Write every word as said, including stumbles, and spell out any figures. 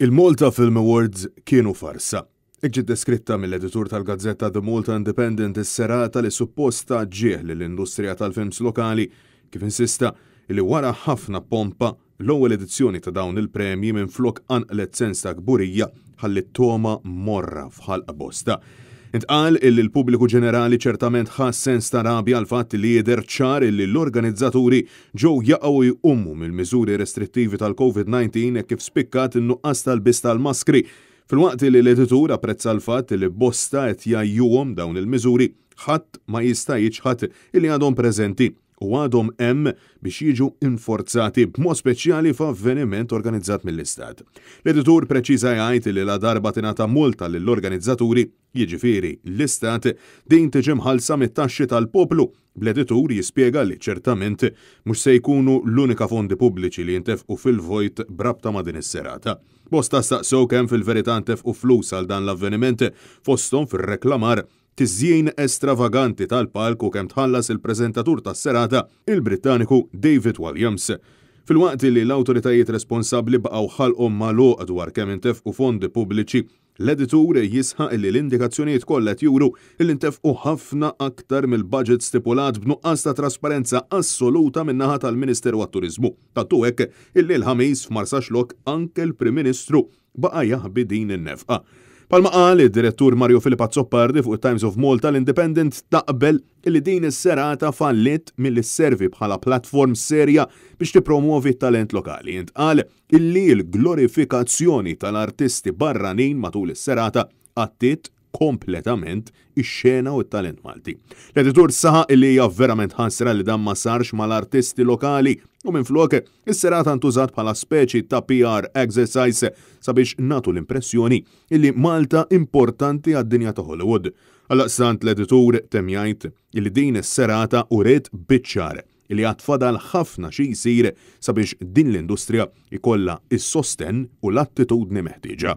Il-Malta Film Awards kienu farsa. Hekk ġiet deskritta mill-editur tal-gazzetta The Malta Independent is-serata li suppost tat ġieħ lill-industrija tal-films lokali, kif insista li wara ħafna pompa l-ewwel edizzjoni ta' dawn il-premji, minflok qanqlet sens ta' kburija, ħalliet togħma morra f'ħalq bosta. Intqal illi l-pubbliku ġenerali ċertament ħass sens ta' rabja għall-fatt li jidher ċar illi l-organizzaturi ġew jaqgħu jqumu mill-miżuri restrittivi tal-Covid nineteen, kif spikkat in-nuqqas tal-lbis tal-maskri. Filwaqt li l-editur apprezza l-fatt li bosta qed jgħajjuhom dawn il-miżuri, ħadd ma jista' jiċħad illi għadhom preżenti u għadhom hemm biex jiġu inforzati, b'mod speċjali f'avveniment organizzat mill-Istat. L-editur preċiża jgħid li la darba tingħata multa lill-organizzaturi, jiġifieri l-Istat, din tiġi mħallsa mit-taxxi tal-poplu. Bl-editur jispjega li ċertament mhux se jkunu l-unika fondi pubbliċi li jintefqu fil-vojt brabta ma' din is-serata. Bosta staqsew kemm fil-verità ntefqu flus għal dan l-avveniment, fosthom fir-reklamar, tiżjin estravaganti tal-palk u kemm tħallas il-preżentatur tas-serata, il-Brittaniku David Walliams. Filwaqt li l-awtoritajiet responsabbli baqgħu ħalqhom magħluq dwar kemm intefqu fondi pubbliċi, l-editur jisħaq li l-indikazzjonijiet kollha juru li ntefqu ħafna aktar mill-budget stipulat, b'nuqqas ta' trasparenza assoluta min-naħa tal-Ministeru għat-Turiżmu. Tant hu hekk illi l-Ħamis f'Marsaxlokk anke l-Prim Ministru baqa' jaħbi din in-nefqa. Bħalma qal id-direttur Mario Philip Azzopardi fuq Times of Malta, l-Independent taqbel li din is-serata fallit milli sservi bħala platform serja biex tippromuovi t-talent lokali. Intqal illi l-glorifikazzjoni tal-artisti barranin matul is-serata għattiet kompletament ix-xena u t-talent Malti. L-editur saħaq illi hija verament ħasra li dan ma sarx mal-artisti lokali u minflok is-serata ntużat bħala speċi ta' P R exercise sabiex nagħtu l-impressjoni illi Malta importanti għad-dinja ta' Hollywood. Għaldaqstant l-editur temm jgħid illi din is-serata uriet biċ-ċar illi għad fadal ħafna xi jsir sabiex din l-industrija ikolla is-sosten u l-attitudni meħtieġa.